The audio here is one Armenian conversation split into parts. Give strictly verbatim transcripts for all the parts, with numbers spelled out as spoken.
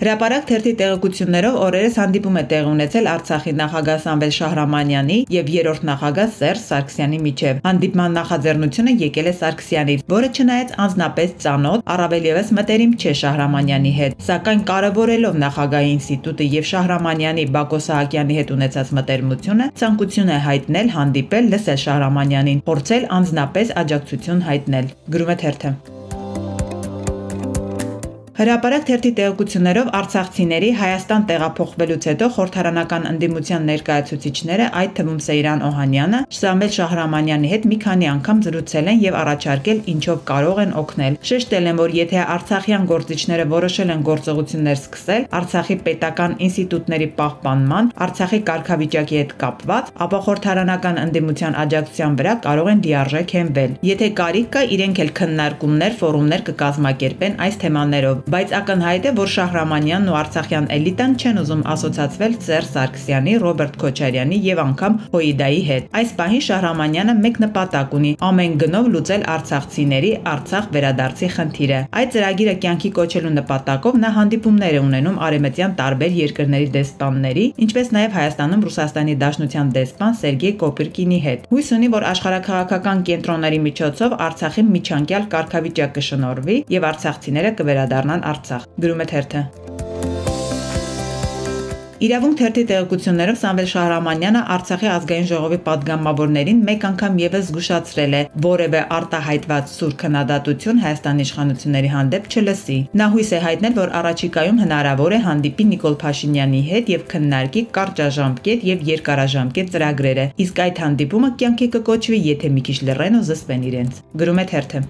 Հրապարակ թերթի տեղեկություններով օրերս հանդիպում է տեղի ունեցել Արցախի նախագահ Սամվել Շահրամանյանի եւ երրորդ նախագահ Սերժ Սարգսյանի միջեւ։ Հանդիպման նախաձեռնությունը եկել է Սարգսյանից, որը չնայած անձնապես ծանոթ, առավել եւս մտերիմ չէ Շահրամանյանի հետ, սակայն կարևորելով նախագահի ինստիտուտը եւ Շահրամանյանի Բակո Սահակյանի հետ ունեցած մտերմությունը, ցանկություն է հայտնել հանդիպել, լսել Շահրամանյանին, փորձել անձնապես աջակցություն հայտնել։ Գրում է թերթը։ Հրապարակ թերթի տեղեկություններով արցախցիների Հայաստան տեղափոխվելուց հետո խորհրդարանական ընդդիմության ներկայացուցիչները, այդ թվում Սեյրան Օհանյանը, Սամվել Շահրամանյանի հետ մի քանի անգամ զրուցել են եւ առաջարկել ինչով կարող են օգնել։ Շեշտել են, որ եթե արցախյան գործիչները որոշել են գործողություններ սկսել Արցախի պետական ինստիտուտների պահպանման, Արցախի կարգավիճակի հետ կապված, ապա խորհրդարանական ընդդիմության աջակցության վրա կարող են լիարժեք հենվել։ Եթե կարիք կա, իրենք էլ քննարկումներ, ֆորումներ կկազմակերպեն այս թեմաներով։ Բայց ակնհայտ է, որ Շահրամանյանն ու արցախյան էլիտան չեն ուզում ասոցացվել Սերժ Սարգսյանի, Ռոբերտ Քոչարյանի եւ անգամ Հոիդայի հետ։ Այս պահին Շահրամանյանը մեկ նպատակ ունի՝ ամեն գնով լուծել արցախցիների Արցախ վերադարձի խնդիրը։ Այդ ծրագիրը կյանքի կոչելու նպատակով նա հանդիպումներ է ունենում արևմտյան տարբեր երկրների դեսպանների, ինչպես նաեւ Հայաստանում Ռուսաստանի Դաշնության դեսպան Սերգեյ Կոպիրկինի հետ։ Հույս ունի, որ աշխարհաքաղաքական կենտրոնների միջոցով Արցախի միջանկյալ կարգավիճակ կշնորհվի եւ արցախցիները կվերադառնան Արցախ։ Գրում է թերթը։ Իրավունք թերթի տեղեկություններով Սամվել Շահրամանյանը Արցախի ազգային ժողովի падգամավորներին մեկ անգամ եւս զգուշացրել է, որևէ արտահայտված սուր քննադատություն Հայաստանի իշխանությունների հանդեպ չլսի։ Նա հույս է հայտնել, որ առաջիկայում հնարավոր է հանդիպի Նիկոլ Փաշինյանի հետ եւ քննարկի կարճաժամկետ եւ երկարաժամկետ ծրագրերը, իսկ այդ հանդիպումը կյանքի կկոչվի, եթե մի քիչ լռեն ու զսպեն իրենց։ Գրում է թերթը։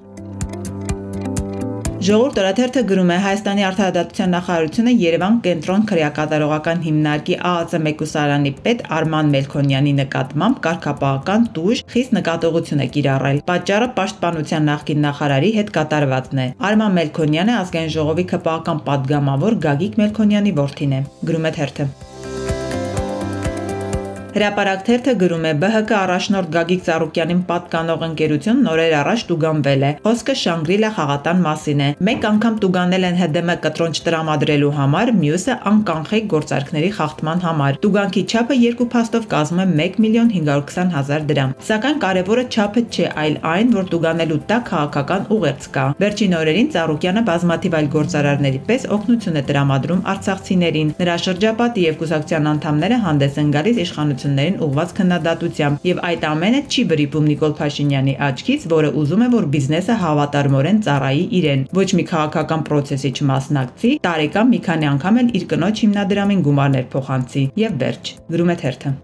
Ժողովուրդ օրաթերթը գրում է Հայաստանի արտահայտության նախարարությունը Երևան կենտրոն քրեակատարողական հիմնարկի A A C մեկուսարանի պետ Արման Մելքոնյանի նկատմամբ կարգապահական տուժ խիստ նկատողություն է կիրառել։ Պատճառը պաշտպանության նախկին նախարարի հետ կատարվածն է։ Արման Մելքոնյանը ազգային ժողովի քպական падգամավոր Գագիկ Մելքոնյանի որդին է։ Գրում է թերթը։ Հրապարակ թերթը գրում է B H K առաջնորդ Գագիկ Ծառուկյանին պատկանող ընկերություն նորեր առաջ տուգանվել է։ Խոսքը Շանգրիլա խաղատան մասին է։ Մեկ անգամ տուգանել են H D M կտրոնջ տրամադրելու համար, մյուսը անկանխիկ գործարքների խախտման համար։ Տուգանքի չափը երկու փաստով կազմում է մեկ միլիոն հինգ հարյուր քսան հազար դրամ։ Սակայն կարևորը չափը չէ, այլ այն, որ տուգանելու տակ քաղաքական ուղերձ կա։ Վերջին օրերին Ծառուկյանը բազմաթիվ այլ գործարարների պես օգնություն է տրամադրում արցախցիներին։ Նրա շրջապատի եւ կուսակցության անդամները հանդես են գալիս իշխանություններին ուղղված քննադատությամբ, եւ այդ ամենը չի վրիպում Նիկոլ Փաշինյանի աչքից, որը ուզում է, որ բիզնեսը հավատարմորեն ծառայի իրեն, ոչ մի քաղաքական պրոցեսի չմասնակցի, տարեկան մի քանի անգամ էլ իր կնոջ հիմնադրամին գումարներ փոխանցի եւ վերջ։ Գրում է թերթը։